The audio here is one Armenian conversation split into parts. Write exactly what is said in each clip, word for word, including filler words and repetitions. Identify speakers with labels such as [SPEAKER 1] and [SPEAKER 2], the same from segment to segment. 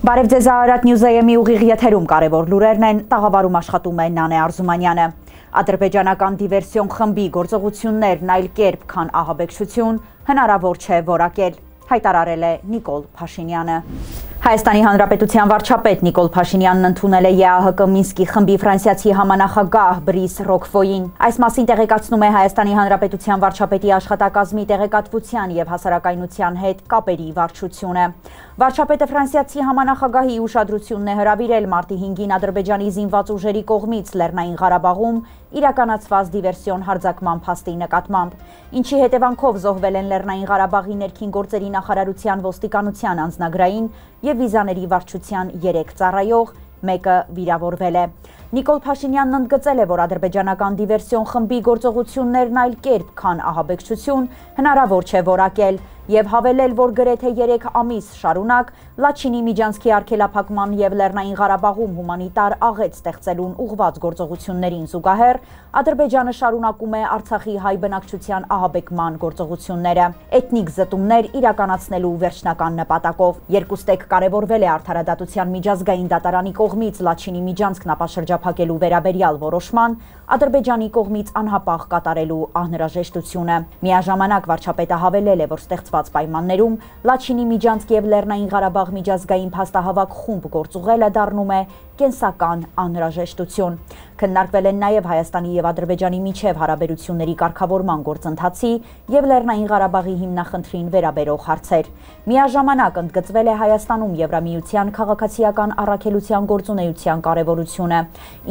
[SPEAKER 1] Բարև ձեզ Արարատ Նյուզայեմի ուղիղ եթերում կարևոր լուրերն են, տաղավարում աշխատում է Նանե Արզումանյանը։ Ադրբեջանական դիվերսիոն խմբի գործողություններն այլ կերպ, քան ահաբեկչություն, հնարավոր չէ որակել, հայտարարել է Նիկոլ Փաշինյանը։ Հայաստանի Հանրապետության վարչապետ Նիկոլ Փաշինյանն ընդունել է ԵԱՀԿ Մինսկի խմբի ֆրանսիացի համանախագահ Բրիս Ռոկֆոյին։ Այս մասին տեղեկացնում է Հայաստանի Հանրապետության վարչապետի աշխատակազմի տեղեկատվության եւ հասարակայնության հետ կապերի վարչությունը։ Վարչապետը ֆրանսիացի համանախագահի ուշադրությունն է հրավիրել մարտի հինգին Ադրբեջանի զինված ուժերի կողմից Լեռնային Ղարաբաղում իրականացված դիվերսիոն հարձակման փաստի նկատմամբ, ինչի հետևանքով զոհվել են Լեռնային Ղարաբաղի ներքին գործերի նախարարության ոստիկանության անձնագրային եւ վիզաների վարչության երեք ծառայող, մեկը վիրավորվել է։ Նիկոլ Փաշինյանն ընդգծել է, որ ադրբեջանական դիվերսիոն խմբի գործողություններն այլ կերպ, քան ահաբեկչություն, հնարավոր չէ որակել եւ հավելել, որ գրեթե երեք ամիս շարունակ Լաչինի Միջանցքի արգելափակման եւ Լեռնային Ղարաբաղում հումանիտար աղետ ստեղծելուն ուղղված գործողություններին զուգահեռ Ադրբեջանը շարունակում է Արցախի հայ բնակչության ահաբեկման գործողությունները, էթնիկ զտումներ իրականացնելու վերջնական նպատակով։ Երկուստեք կարևորվել է Արդարադատության միջազգային դատարանի կողմից Լաչինի Միջանցքն ապաշրջափակելու վերաբերյալ որոշման Ադրբեջանի կողմից անհապաղ կատարելու անհրաժեշտությունը։ Միաժամանակ վարչապետը հավելել է, որ ստեղծված պայմաններում Լաչինի Միջանցք եւ Լեռնային Ղարաբաղ միջազգային փաստահավաք խումբ գործուղելը դառնում է կենսական անհրաժեշտություն։ Քննարկվել են նաև Հայաստանի եւ Ադրբեջանի միջև հարաբերությունների կարգավորման գործընթացի եւ Լեռնային Ղարաբաղի հիմնախնդրին վերաբերող հարցեր։ Միաժամանակ ընդգծվել է Հայաստանում Եվրամիության քաղաքացիական առաքելության գործունեության կարևորությունը,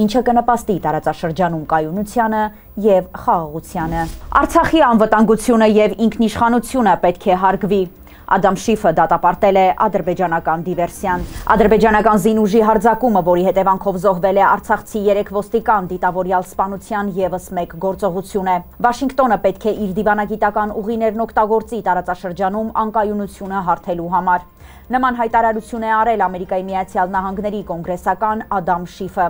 [SPEAKER 1] ինչը կնպաստի տարածաշրջանում կայունությանը եւ խաղաղությանը։ Արցախի անվտանգությունը եւ ինքնիշխանությունը պետք է հարգվի։ Ադամ Շիֆը դատապարտել է ադրբեջանական դիվերսիան։ Ադրբեջանական զինուժի հարձակումը, որի հետևանքով զոհվել է արցախցի երեք ոստիկան, դիտավորյալ սպանության եւս մեկ գործողություն է։ Վաշինգտոնը պետք է իր դիվանագիտական ուղիներն օգտագործի տարածաշրջանում անկայունությունը հարթելու համար։ Նման հայտարարություն է արել Ամերիկայի Միացյալ Նահանգների կոնգրեսական Ադամ Շիֆը։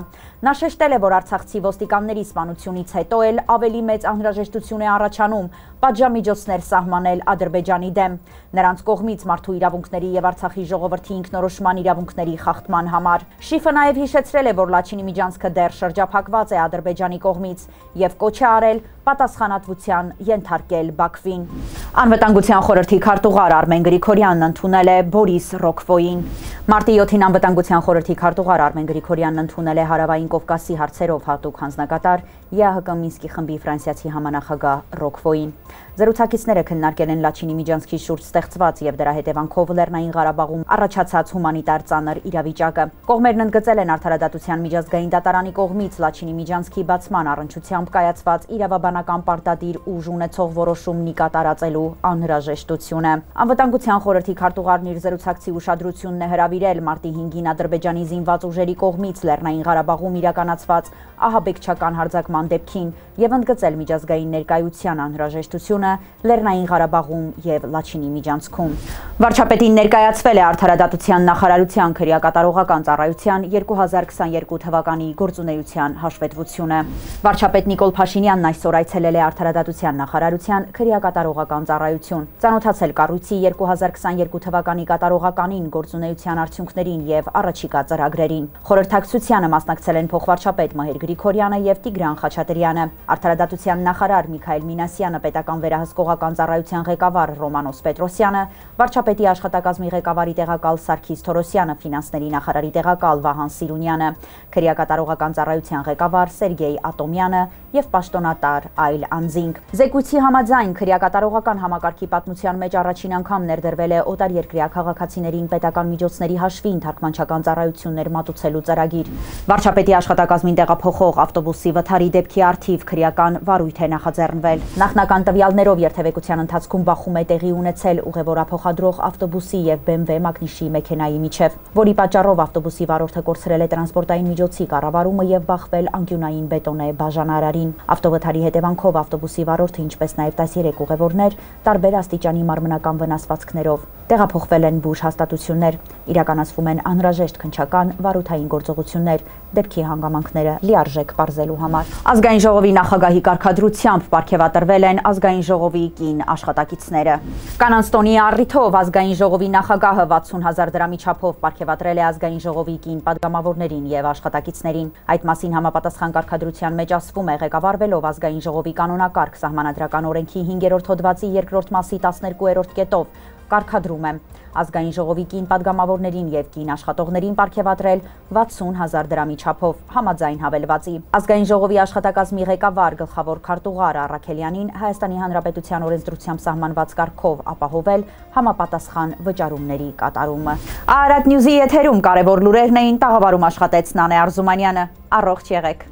[SPEAKER 1] Նա շեշտել է, որ արցախցի ոստիկանների սպանությունից հետո էլ ավելի մեծ անհրաժեշտություն է առաջանում պատժամիջոցներ սահմանել Ադրբեջանի դեմ, նրանց կողմից մարդու իրավունքների եւ Արցախի ժողովրդի ինքնորոշման իրավունքների խախտման համար։ Շիֆը նաեւ հիշեցրել է, որ Լաչինի Միջանցքը դեռ շրջափակված է Ադրբեջանի կողմից եւ կոչ է արել պատասխանատվության ենթարկել Բաքվին։ Անվտանգության խորհրդի քարտուղար Արմեն Գրիգորյանն ընդունել է Բորիս Ռոկֆոյին։ Մարտի յոթին Անվտանգության խորհրդի քարտուղար Արմեն Գրիգորյանն ընդունել է Հարավային Կովկասի հարցերով հատուկ հանձնակատար ԵԱՀԿ Մինսկի խմբի ֆրանսիացի համանախագահ Ռոկֆոյին։ Զրուցակիցները քննարկել են Լաչինի Միջանցքի շուրջ ստեղծված եւ դրա հետևանքով Լեռնային Ղարաբաղում առաջացած հումանիտար ծանր իրավիճակը։ Կողմերն ընդգծել են Արդարադատության միջազգային դատարանի կողմից Լաչինի Միջանցքի բացման առնչությամբ կայացված իրավաբանական պարտադիր ուժ ունեցող որոշումն ի կատարածելու անհրաժեշտությունը։ Անվտանգության խորհրդի քարտուղարն իր զրուցակցի ուշադրությունն է հրավիրել մարտի հինգին Ադրբեջանի զինված ուժերի կողմից Լեռնային Ղարաբաղում իրականացված ահաբեկչական հարձակման դեպքին եւ ընդգծել միջազգային ներկայության անհրաժեշտությունը Լեռնային Ղարաբաղում եւ Լաչինի Միջանցքում։ Վարչապետին ներկայացվել է Արդարադատության նախարարության քրեակատարողական ծառայության երկու հազար քսաներկու թվականի գործունեության հաշվետվությունը։ Վարչապետ Նիկոլ Փաշինյանն այսօր այցելել է Արդարադատության նախարարության քրեակատարողական ծառայություն, ծանոթացել կառույցի երկու հազար քսաներկու թվականի կատարողականին, գործունեության արդյունքներին եւ առաջիկա ծրագրերին։ Խորհրդակցությանը մասնակցել են փոխվարչապետ Մհեր Գրիգորյանը եւ Տիգրան Խաչատրյանը, Արդարադատության նախարար Միքայել Մինասյանը, պետական վերահսկողական ծառայության ղեկավար Ռոմանոս Պետրոսյանը, վարչապետի աշխատակազմի ղեկավարի տեղակալ Սարգիս Թորոսյանը, ֆինանսների նախարարի տեղակալ Վահան Սիրունյանը, քրեակատարողական ծառայության ղեկավար Սերգեյ Ատոմյանը եւ պաշտոնատար այլ անձինք։ Զեկույցի համաձայն քրեակատարողական համակարգի պատմության մեջ առաջին անգամ ներդրվել է օտարերկրյա քաղաքացիներին պետական միջոցների հաշվին թարգմանչական ծառայություններ մատուցելու ծրագիր։ Վարչապետի աշխատակազմին տեղափոխող ավտոբուսի վթարի դեպքի առթիվ քրեական վարույթ է նախաձեռնվել։ Նախնական տվյալներով երթևեկության ընթացքում բախում է տեղի ունեցել ուղևորափոխադրող ավտոբուսի եւ бэ էմ վե Մագնիշի մեքենայի միջև, որի պատճառով ավտոբուսի վարորդը կորցրել է տրանսպորտային միջոցի կառավարումը եւ բախվել անկյունային բետոնե բաժանարարին։ Ավտովթարի հետևանքով ավտոբուսի վարորդը, ինչպես նաեւ տասներեք ուղևորներ, տարբեր աստիճանի մարմնական վնասվածքներով Տեղափոխվել են բուժ հաստատություններ, իրականացվում են անհրաժեշտ քննչական վարութային գործողություններ, դեպքի հանգամանքները լիարժեք պարզելու համար։ Ազգային ժողովի նախագահի կարգադրությամբ պարգևատրվել են ազգային ժողովի կին աշխատակիցները։ Կանանց տոնի առիթով ազգային ժողովի նախագահը վաթսուն հազար դրամի չափով պարգևատրել է ազգային ժողովի կին պատգամավորներին եւ աշխատակիցներին։ Այդ մասին համապատասխան կարգադրության մեջ ասվում է, ղեկավարվելով ազգային ժողովի կանոնակարգ սահմանադրական օրենքի հինգերորդ հոդվածի երկրորդ մասի տասներկուերորդ կետով կարգադրում է ազգային ժողովի կին պատգամավորներին եւ կին աշխատողներին պարգևատրել վաթսուն հազար դրամի չափով համաձայն հավելվածի։ Ազգային ժողովի աշխատակազմի ղեկավար գլխավոր քարտուղար Առաքելյանին Հայաստանի Հանրապետության օրենսդրությամբ սահմանված կարգով ապահովել համապատասխան վճարումների կատարումը։ Արարատ Նյուզի եթերում կարևոր լուրերն էին, տաղավարում աշխատեց Նանե Արզումանյանը։ Առողջ եղեք։